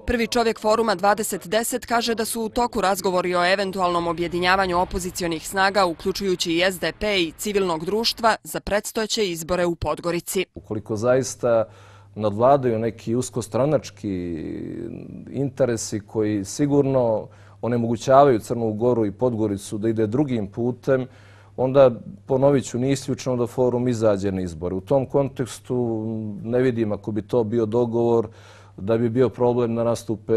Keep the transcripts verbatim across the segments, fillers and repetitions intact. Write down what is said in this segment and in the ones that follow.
Prvi čovjek foruma dvadeset deset kaže da su u toku razgovori o eventualnom objedinjavanju opozicionih snaga, uključujući i S D P i civilnog društva, za predstojeće izbore u Podgorici. Ukoliko zaista nadvladaju neki uskostranački interesi koji sigurno onemogućavaju Crnu Goru i Podgoricu da ide drugim putem, onda, ponovit ću, nije isključeno da forum izađe na izbore. U tom kontekstu ne vidim, ako bi to bio dogovor, da bi bio problem da nastupe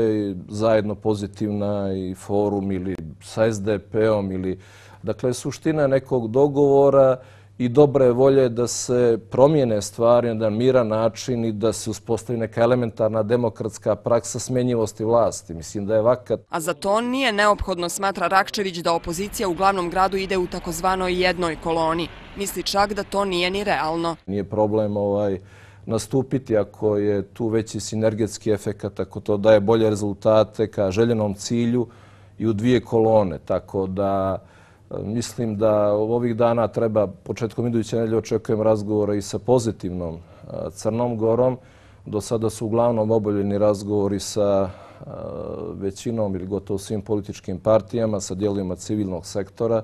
zajedno Pozitivna i forum ili sa S D P-om. Ili... Dakle, suština nekog dogovora i dobre volje da se promijene stvari na jedan miran način i da se uspostavi neka elementarna demokratska praksa smjenjivosti vlasti. Mislim da je vakat. A za to nije neophodno, smatra Rakčević, da opozicija u glavnom gradu ide u takozvanoj jednoj koloni. Misli čak da to nije ni realno. Nije problem ovaj, nastupiti ako je tu veći sinergetski efekat, ako to daje bolje rezultate ka željenom cilju i u dvije kolone. Tako da mislim da ovih dana treba, početkom iduće nedelje očekujem razgovora i sa Pozitivnom Crnom Gorom. Do sada su uglavnom obavljeni razgovori sa većinom ili gotovo svim političkim partijama, sa dijelovima civilnog sektora.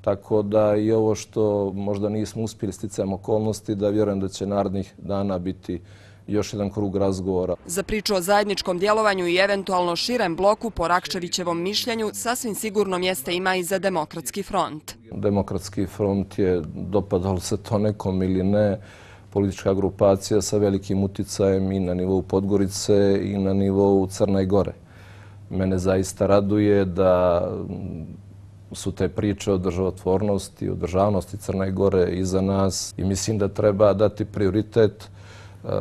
Tako da i ovo što možda nismo uspjeli sticajem okolnosti, da vjerujem da će narednih dana biti još jedan krug razgovora. Za priču o zajedničkom djelovanju i eventualno širem bloku, po Rakčevićevom mišljenju, sasvim sigurno mjesta ima i za Demokratski front. Demokratski front je, dopadalo se to nekom ili ne, politička grupacija sa velikim uticajem i na nivou Podgorice i na nivou Crne Gore. Mene zaista raduje da su te priče o državotvornosti, o državnosti Crne Gore iza nas i mislim da treba dati prioritet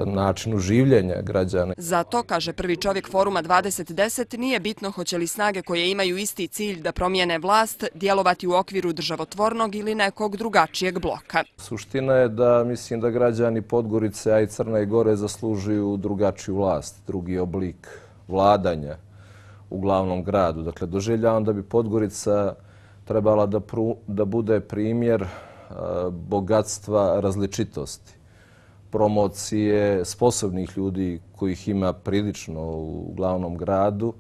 načinu življenja građana. Zato, kaže prvi čovjek foruma dvadeset deset, nije bitno hoće li snage koje imaju isti cilj da promijene vlast djelovati u okviru državotvornog ili nekog drugačijeg bloka. Suština je da mislim da građani Podgorice, a i Crne Gore zaslužuju drugačiju vlast, drugi oblik vladanja u glavnom gradu. Dakle, doživljavam da bi Podgorica trebala da, pru, da bude primjer a, bogatstva različitosti, promocije sposobnih ljudi kojih ima prilično u glavnom gradu,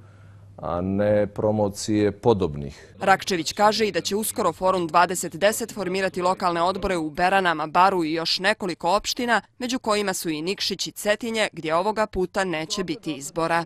a ne promocije podobnih. Rakčević kaže i da će uskoro forum dvadeset deset formirati lokalne odbore u Beranama, Baru i još nekoliko opština, među kojima su i Nikšić i Cetinje, gdje ovoga puta neće biti izbora.